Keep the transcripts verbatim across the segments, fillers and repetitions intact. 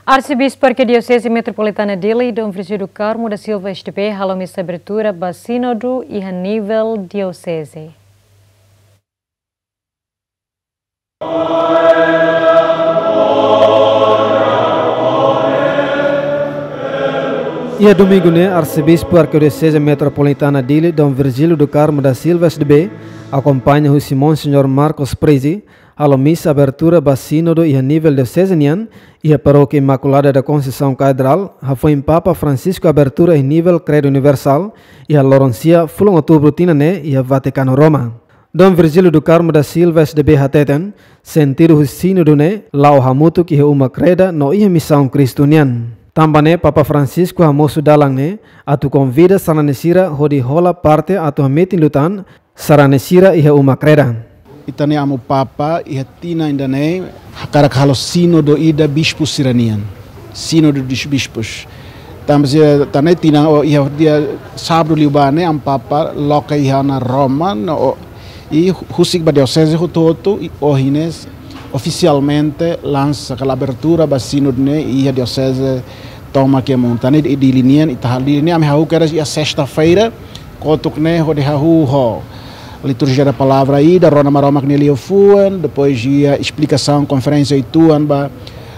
Arsebispu Arkidioseze Metropolitana Dili, Dom Virgílio do Carmo da Silva S D B, halo misa abertura ba sínodu iha nivel dioseze. Iha domingu ne'e, Arsebispu Arkidioseze Metropolitana Dili, Dom Virgílio do Carmo da Silva S D B, akompaña husi Monseñór Marcos Prizi, halo misa abertura ba sínodu iha nivel dioseze nian, iha Parókia Imaculada da Conceição Catedral, hafoin Papa Francisco abertura iha nivel Credo Universal, iha loron sia, fulan Outubru tinan ne'e, iha Vatikanu, Roma. Dom Virgílio do Carmo da Silva S D B hateten, sentidu husi sínodu ne'e, la'o hamutuk iha uma kreda no iha misaun Kristu nian. Tanba ne'e Papa Francisco hamosu dalan ne'e, atu konvida sarani sira hodi hola parte atu hametin liután sarani sira iha uma kreda. Ita-nia Amu Papa iha tinan ida-ne'e hakarak halo sínodu ida bispu sira-nian. Sínodu dos Bispos. Tanba sira, tan ne'e tinan, o, iha dia sábadu liubá ne'e Amu Papa loke iha ona Roma, no, o, i husik ba dioseze hotu-hotu, i ohin ne'e ofisialmente lansa ka abertura ba sínodu ne'e iha dioseze tomak iha mundu. Tan ne'e Dili nian, ita halo Dili nian, ami hahú kedas iha sesta-feira, kotuk ne'e hodi hahú ho liturjia da palavra ida, rona Maromak nia liafuan, depois iha esplikasaun, konferénsia uitoan ba,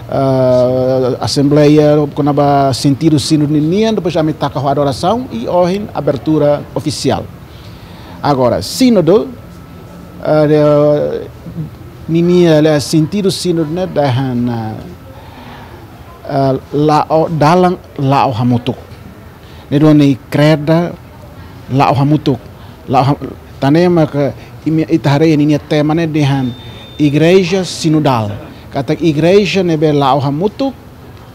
ah, asembleia, kona-ba sentidu sínodu ninian, depois ami taka ho adorasaun, i ohin abertura ofisiál. Agora, sínodu, ah, de, ninia, eh, sentidu sínodu ne'e dehan, ah, ah, la'o, dalan la'o hamutuk. Ne'e duni kreda la'o hamutuk. La'o ha-, tan ne'e maka imi, ita haree ninia tema ne'e dehan igreja sinodal. Katak igreja ne'ebé la'o hamutuk,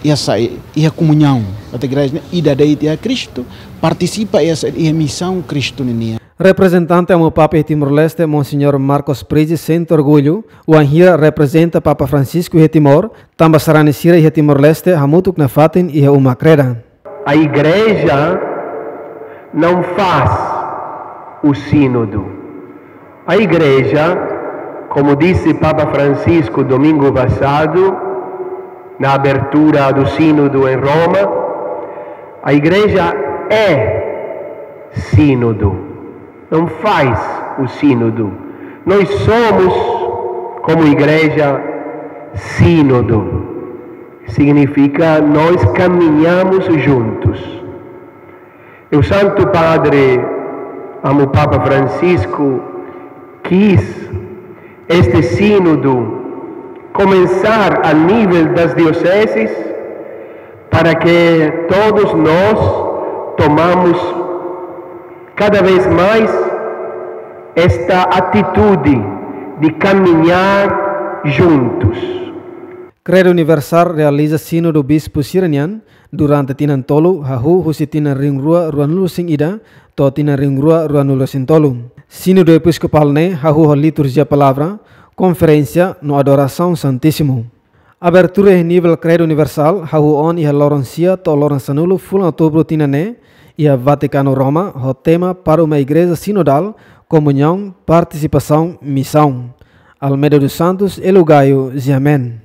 iha saida, iha komuñaun. Katak igreja ne'e ida de'it iha Kristu, partisipa iha saida, iha misaun Kristu ninian. Reprezentante Amu Papa iha Timor-Leste, Monseñór Marcos Prizi, sente orgullu, wainhira reprezenta Papa Francisco iha Timor, tanba sarani sira iha Timor-Leste hamutuk nafatin iha uma kreda. A igreja não faz o sínodo. A igreja, como disse Papa Francisco domingo passado, na abertura do sínodo em Roma, a igreja é sínodo, não faz o sínodo. Nós somos, como igreja, sínodo. Significa nós caminhamos juntos. E o Santo Padre, Amu Papa Francisco, quis este sínodo começar a nível das dioceses, para que todos nós tomamos cada vez mais esta atitude de caminhar juntos. Credo Universal realiza sínodu bispu sira-nian durante tinan tolu, hahú husi tinan rihun rua ruanulu-resin-ida to'o tinan rihun rua ruanulu-resin-tolu. Sínodu Episkopál ne'e hahú ho liturjia palavra, konferénsia no adorasaun Santísimu. Abertura iha nivel Credo Universal hahú ona iha loron sia to'o loron sanulu fulan Outubru tinan ne'e, iha Vatikanu, Roma, ho tema Para uma Igreja Sinodal, Komuñaun, Partisipasaun, Misaun. Almeida dos Santos, Elo Gaio, Ziamen.